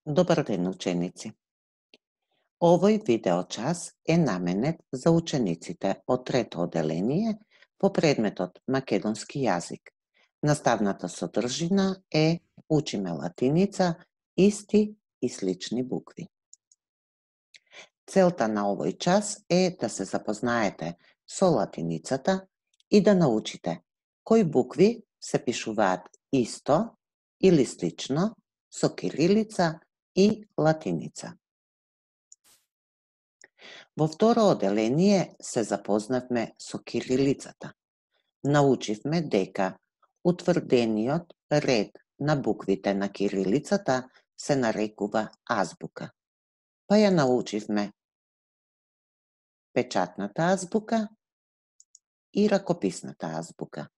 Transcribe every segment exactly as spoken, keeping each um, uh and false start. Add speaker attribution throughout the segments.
Speaker 1: Добар ден, ученици! Овој видеочас е наменет за учениците од трето оделение по предметот Македонски јазик. Наставната содржина е Учиме латиница, исти и слични букви. Целта на овој час е да се запознаете со латиницата и да научите кои букви се пишуваат исто или слично со кирилица и латиница. Во второ оделение се запознавме со кирилицата. Научивме дека утврдениот ред на буквите на кирилицата се нарекува азбука. Па ја научивме печатната азбука и ракописната азбука.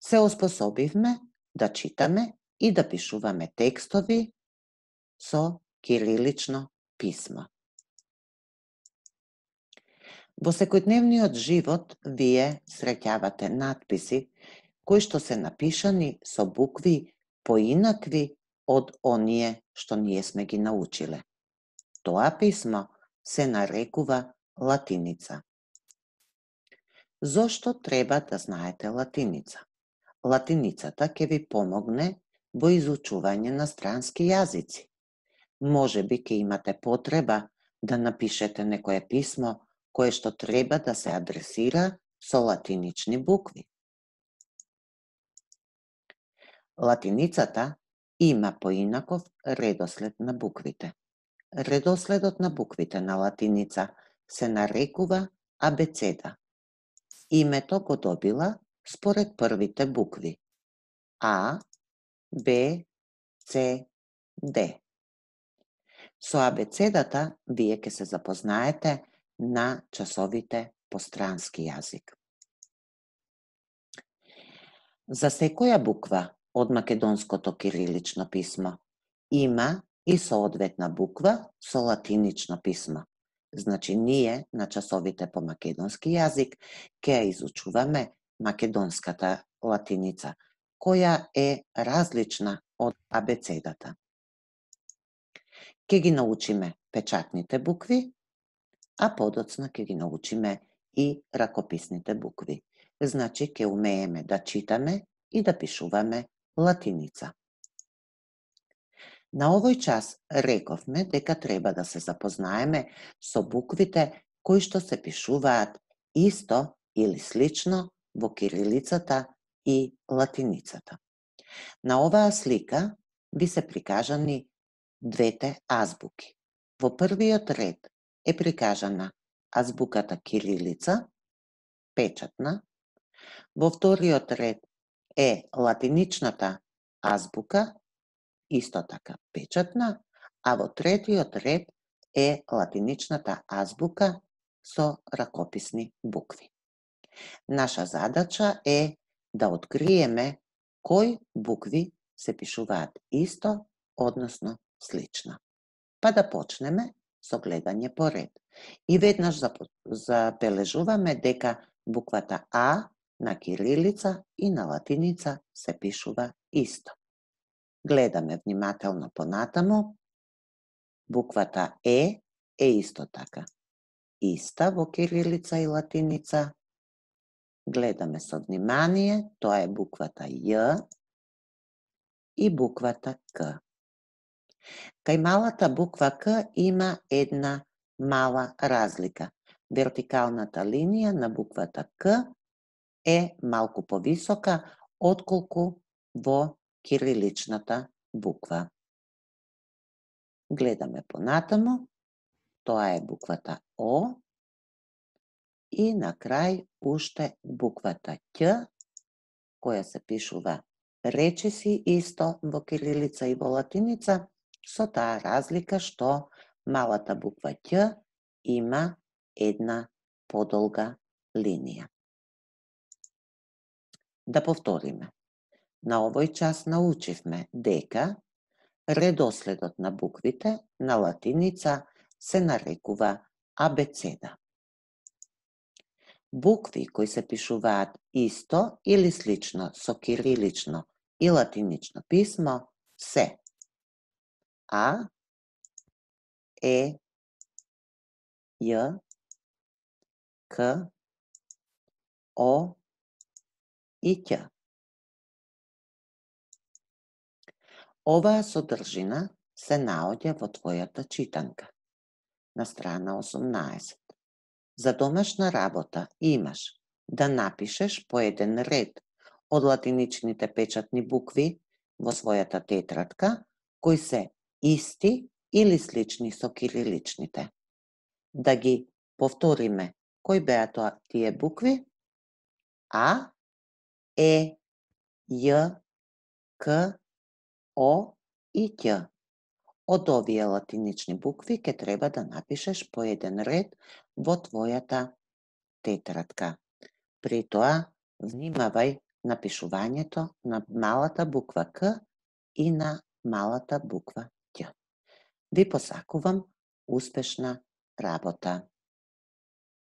Speaker 1: Се оспособивме да читаме и да пишуваме текстови со кирилично писмо. Во секојдневниот живот вие среќавате натписи кои што се напишани со букви поинакви од оние што ние сме ги научиле. Тоа писмо се нарекува латиница. Зошто треба да знаете латиница? Латиницата ќе ви помогне во изучување на странски јазици. Може би ќе имате потреба да напишете некое писмо кое што треба да се адресира со латинични букви. Латиницата има поинаков редослед на буквите. Редоследот на буквите на латиница се нарекува абецеда. Името го добила според првите букви А, Б, С, Д. Со абецедата вие ќе се запознаете на часовите по странски јазик. За секоја буква од македонското кирилично писмо има и соодветна буква со латинично писмо. Значи, ние на часовите по македонски јазик ќе ја изучуваме македонската латиница, која е различна од абецедата. Ќе ги научиме печатните букви, а подоцна ќе ги научиме и ракописните букви. Значи, ќе умееме да читаме и да пишуваме латиница. На овој час рековме дека треба да се запознаеме со буквите кои што се пишуваат исто или слично во кирилицата и латиницата. На оваа слика ви се прикажани двете азбуки. Во првиот ред е прикажана азбуката кирилица, печатна. Во вториот ред е латиничната азбука, исто така печатна, а во третиот ред е латиничната азбука со ракописни букви. Наша задача е да откриеме кои букви се пишуваат исто, односно слично. Па да почнеме со гледање по ред. И веднаш забележуваме дека буквата А на кирилица и на латиница се пишува исто. Гледаме внимателно понатаму. Буквата Е е исто така иста во кирилица и латиница. Гледаме со внимание, тоа е буквата Ј и буквата К. Кај малата буква К има една мала разлика. Вертикалната линија на буквата К е малку повисока отколку во кириличната буква. Гледаме понатаму, тоа е буквата О и на крај уште буквата Ќ, која се пишува речиси исто во кирилица и во латиница, со таа разлика што малата буква Ќ има една подолга линија. Да повториме. На овој час научивме дека редоследот на буквите на латиница се нарекува абецеда. Букви кои се пишуваат исто или слично со кирилично и латинично писмо се А, Е, Ј, К, О и Ќ. Оваа содржина се наоѓа во твојата читанка на страна осумнаесет. За домашна работа имаш да напишеш по еден ред од латиничните печатни букви во својата тетрадка, кои се исти или слични со кириличните. Да ги повториме, кои беа тоа тие букви? А, Е, Ј, К, О и Ќ. Од овие латинични букви ќе треба да напишеш по еден ред во твојата тетрадка. При тоа, внимавај на пишувањето на малата буква К и на малата буква Ќ. Ви посакувам успешна работа.